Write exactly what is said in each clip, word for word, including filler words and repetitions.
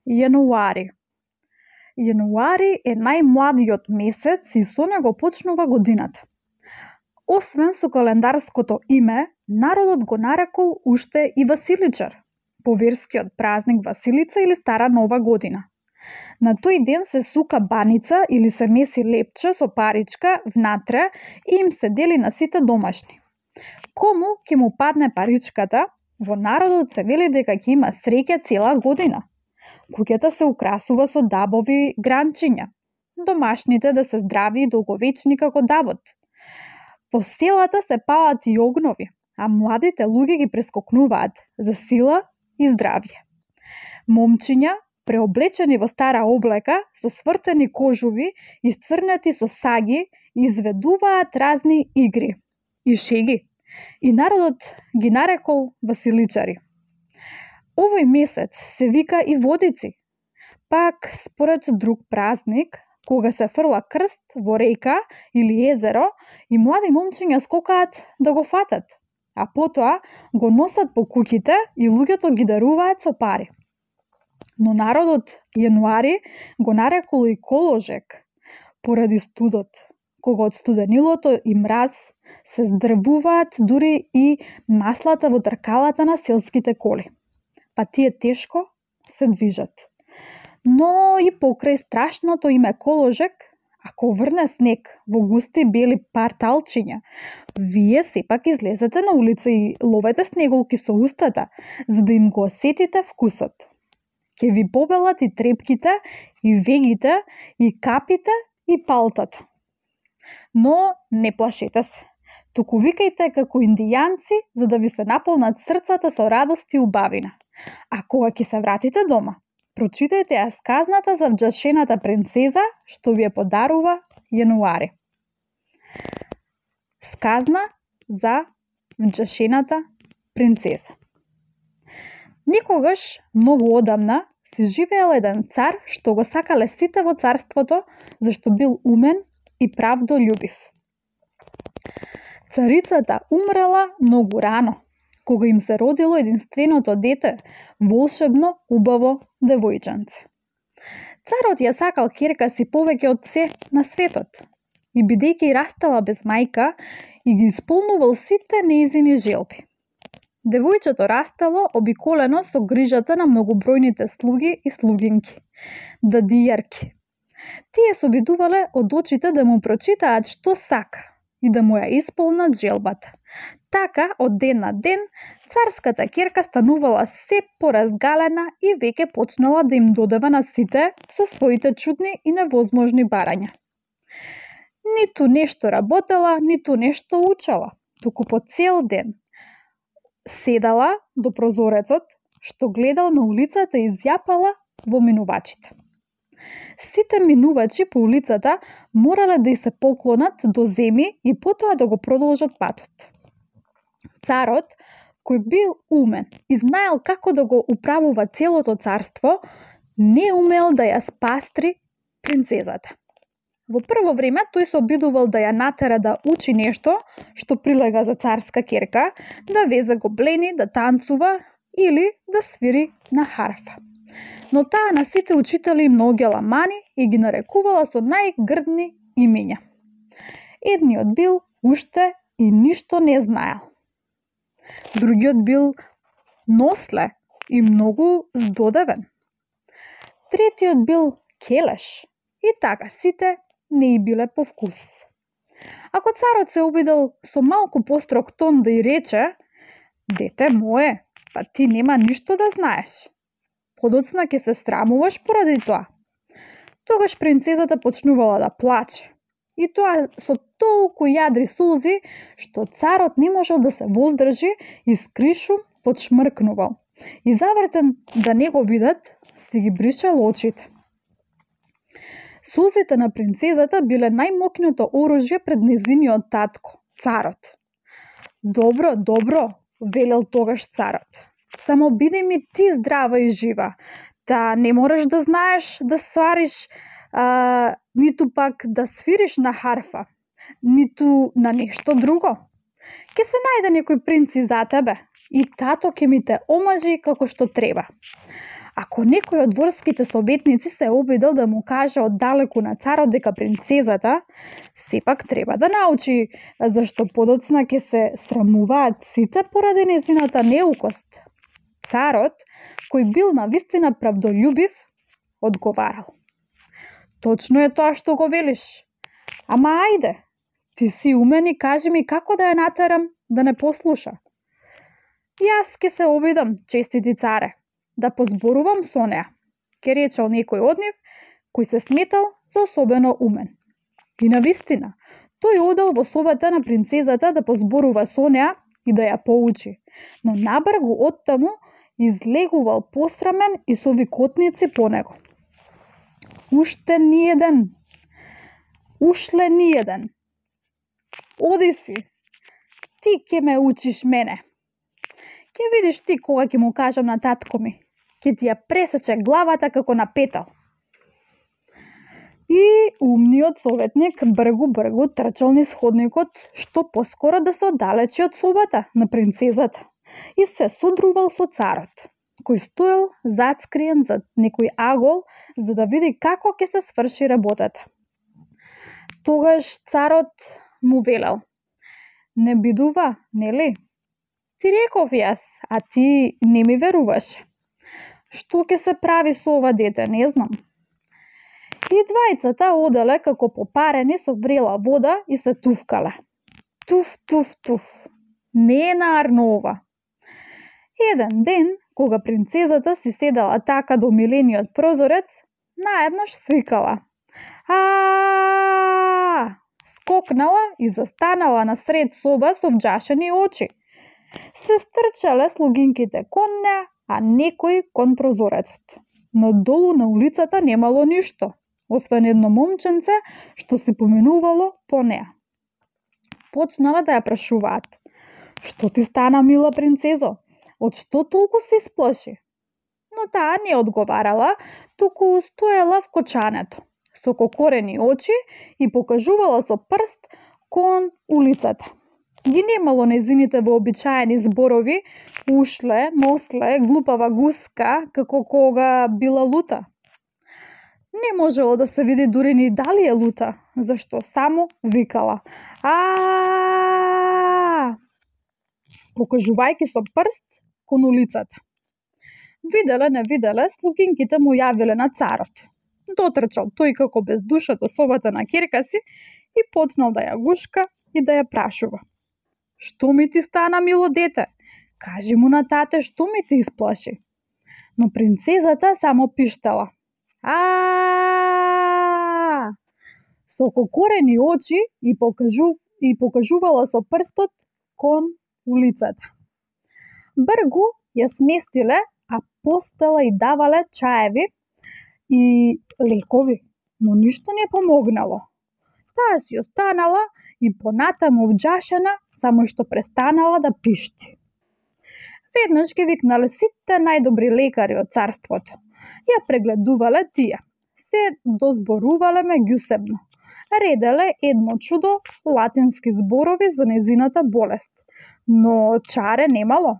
Јануари. Јануари е најмладиот месец и со него почнува годината. Освен со календарското име, народот го нарекол уште и Василичар, по верскиот празник Василица или Стара Нова година. На тој ден се сука баница или се меси лепче со паричка внатре и им се дели на сите домашни. Кому ќе му падне паричката, во народот се вели дека ќе има среќа цела година. Куќата се украсува со дабови гранчиња, домашните да се здрави и долговечни како дабот. По селата се палат и огнови, а младите луѓе ги прескокнуваат за сила и здравје. Момчиња, преоблечени во стара облека, со свртени кожуви, исцрнати со саги, изведуваат разни игри и шеги, и народот ги нарекол Василичари. Овој месец се вика и Водици, пак според друг празник, кога се фрла крст во река или езеро и млади момчиња скокаат да го фатат, а потоа го носат по куќите и луѓето ги даруваат со пари. Но народот јануари го нарекол и Коложек, поради студот, кога од студенилото и мраз се здрвуваат дури и маслата во тркалата на селските коли, па тие тешко се движат. Но и покрај страшното име Коложек, ако врне снег во густи бели парталчиња, вие сепак излезете на улица и ловете снеголки со устата, за да им го осетите вкусот. Ке ви побелат и трепките, и вегите, и капите, и палтата. Но не плашете се. Туку викајте како индијанци, за да ви се наполнат срцата со радост и убавина. А кога ќе се вратите дома, прочитајте ја сказната за вџашената принцеза, што ви ја подарува Јануари. Сказна за вџашената принцеза. Некогаш, многу одамна, се живеел еден цар што го сакале сите во царството, зашто бил умен и правдолюбив. Царицата умрела многу рано, кога им се родило единственото дете, волшебно убаво девојченце. Царот ја сакал ќерка си повеќе од се на светот и бидејќи растала без мајка и ги исполнувал сите нејзини желби. Девојчето растало обиколено со грижата на многобројните слуги и слугинки, дадијарки. Тие се обидувале од очите да му прочитаат што сака и да му ја исполнат желбата. Така, од ден на ден, царската ќерка станувала се поразгалена и веќе почнала да им додава на сите со своите чудни и невозможни барања. Ниту нешто работела, ниту нешто учела, туку по цел ден седала до прозорецот, што гледал на улицата и зјапала во минувачите. Сите минувачи по улицата морале да ѝ се поклонат до земи и потоа да го продолжат патот. Царот, кој бил умен и знаел како да го управува целото царство, не умел да ја спастри принцезата. Во прво време тој се обидувал да ја натера да учи нешто што прилега за царска ќерка, да везе гоблени, да танцува или да свири на харфа. Но таа на сите учители им наоѓала мани и ги нарекувала со најгрдни имиња. Едниот бил уште и ништо не знаел. Другиот бил носле и многу здодевен. Третиот бил келеш и така сите не и биле по вкус. Ако царот се обидел со малку построг тон да ѝ рече: "Дете мое, па ти нема ништо да знаеш. Подоцна ќе се срамуваш поради тоа." Тогаш принцезата почнувала да плаче. И тоа со толку јадри сулзи, што царот не можел да се воздржи и скришум подшмркнувал. И завртен да не го видат, си ги бришал очите. Сулзите на принцезата биле најмокното оружје пред незиниот татко, царот. "Добро, добро," велел тогаш царот. "Само биди ми ти здрава и жива. Та не мораш да знаеш да свариш, а, ниту пак да свириш на харфа, ниту на нешто друго. Ке се најде некој принц и за тебе и тато ќе ми те омажи како што треба. Ако некој од дворските советници се обидел да му каже оддалеку на царот дека принцезата сепак треба да научи зашто подоцна ќе се срамуваат сите поради нејзината неукост, царот, кој бил навистина правдолюбив, одговарал: точно е тоа што го велиш. Ама ајде, ти си умен и кажи ми како да ја натерам да не послуша. Јас ќе се обидам, честити царе, да позборувам со неа, ке речел некој од нив, кој се сметал за особено умен. И навистина, тој одел во собата на принцезата да позборува со неа и да ја поучи, но набргу оттаму излегувал посрамен и со викотници по него. Уште ни еден, ушле ни еден. Оди си, ти ќе ме учиш мене. Ке видиш ти кога ќе му кажам на татко ми, ќе ти ја пресече главата како на петал. И умниот советник бргу-бргу трчал низ ходникот што поскоро да се оддалечи од собата на принцезата и се содрувал со царот, кој стоел зацкриен зад некој агол за да види како ќе се сврши работата. Тогаш царот му велел: не бидува, нели? Ти реков јас, а ти не ми веруваше. Што ќе се прави со ова дете, не знам. И двајцата оделе како попарени со врела вода и се туфкале. Туф, туф, туф. Не е нарно ова. Еден ден, кога принцезата си седела така до милениот прозорец, наеднаш свикала: а скокнала и застанала насред соба со вџашени очи. Се стрчале слугинките кон неа, а некој кон прозорецот. Но долу на улицата немало ништо, освен едно момченце што се поминувало по неа. Почнале да ја прашуваат: што ти стана, мила принцезо? Од што толку се исплаши? Но таа не одговарала, туку стоела в кочането, со кокорени очи и покажувала со прст кон улицата. Ги немало незините вообичаени зборови: ушле, носле, глупава гуска, како кога била лута. Не можело да се види дури ни дали е лута, зашто само викала а покажувајќи со прст кон улицата. Виделе, не виделе, слугинките му јавиле на царот. Дотрчал тој како без душа до собата на ќерка си и почнал да ја гушка и да ја прашува: што ми ти стана, мило дете? Кажи му на тате што ми те исплаши. Но принцезата само пиштала: а со кокорени очи и покажу и покажувала со прстот кон улицата. Бргу ја сместиле, а постела и давале чаеви и лекови, но ништо не помогнало. Таа си останала и понатаму вџашена, само што престанала да пишти. Веднаш ги викнале сите најдобри лекари од царството. Ја прегледувале тие. Се дозборувале меѓусебно. Ределе едно чудо латински зборови за незината болест, но чаре немало.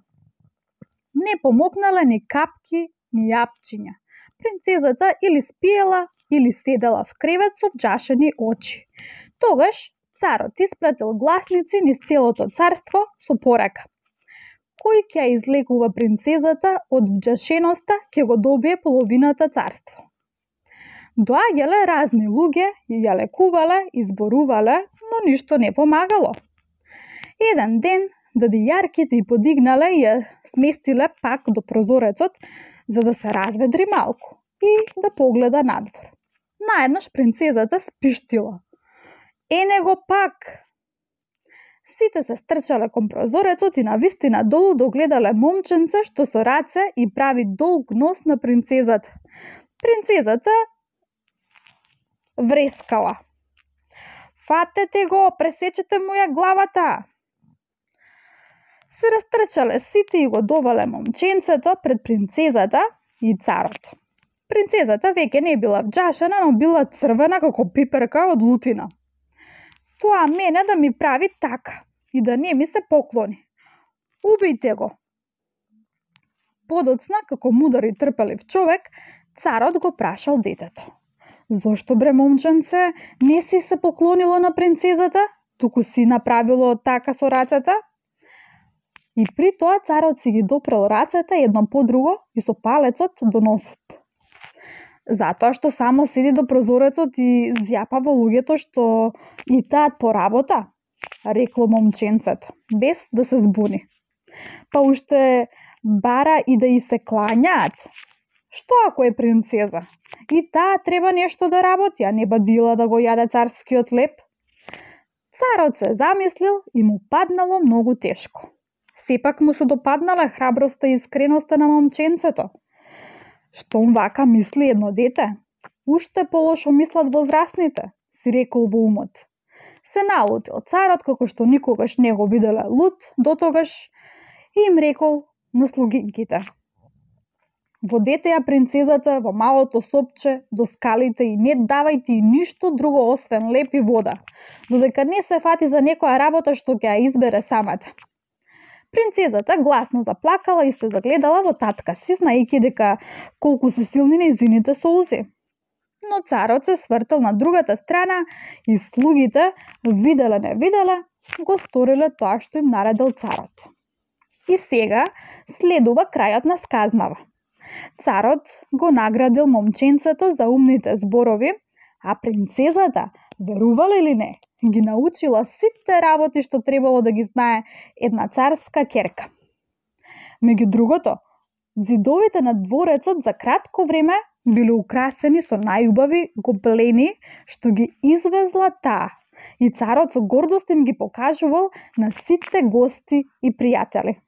Не помогнале ни капки, ни јапчиња. Принцезата или спиела, или седела в кревет со вџашени очи. Тогаш царот испратил гласници низ целото царство со порака: кој ќе излекува принцезата од вџашеноста, ќе го добие половината царство. Доаѓале разни луѓе, ја лекувале, изборувале, но ништо не помагало. Еден ден дади-јарките и подигнале и ја сместиле пак до прозорецот, за да се разведри малку и да погледа надвор. Наеднаш принцезата спиштила: е него пак! Сите се стрчале кон прозорецот и навистина долу догледале момченце што со раце и прави долг нос на принцезата. Принцезата врескала: фатете го, пресечете му ја главата! Се растрчале сите и го довале момченцето пред принцезата и царот. Принцезата веќе не била вџашена, но била црвена како пиперка од лутина. Тоа мене да ми прави така и да не ми се поклони. Убијте го! подоцна, како мудар и трпелив човек, царот го прашал детето: "Зошто бре момченце не си се поклонило на принцезата, туку си направило така со рацете?" И при тоа царот си ги допрел рацете едно по друго и со палецот до носот. Затоа што само седи до прозорецот и зјапа во луѓето што и таат по работа, рекло момченцето, без да се збуни. Па уште бара и да и се клањаат. Што ако е принцеза? И таа треба нешто да работи, а не бадила да го јаде царскиот леп. Царот се замислил и му паднало многу тешко. Сепак му се допаднала храброста и искреноста на момченцето. Штом вака мисли едно дете, уште полошо мислат возрастните, си рекол во умот. Се налутил царот како што никогаш не го виделе луд дотогаш и им рекол на слугинките: "Водете ја принцезата во малото сопче до скалите и не давајте и ништо друго освен леп и вода, додека не се фати за некоја работа што ќе ја избере самата." Принцезата гласно заплакала и се загледала во татка си, знаејќи дека колку се силни нејзините солзи. Но царот се свртел на другата страна и слугите, виделе не виделе, го сториле тоа што им наредил царот. И сега следува крајот на сказнава. Царот го наградил момченцето за умните зборови, а принцезата, верувале или не, ги научила сите работи што требало да ги знае една царска ќерка. Меѓу другото, ѕидовите на дворецот за кратко време биле украсени со најубави гоблени што ги извезла таа, и царот со гордост им ги покажувал на сите гости и пријатели.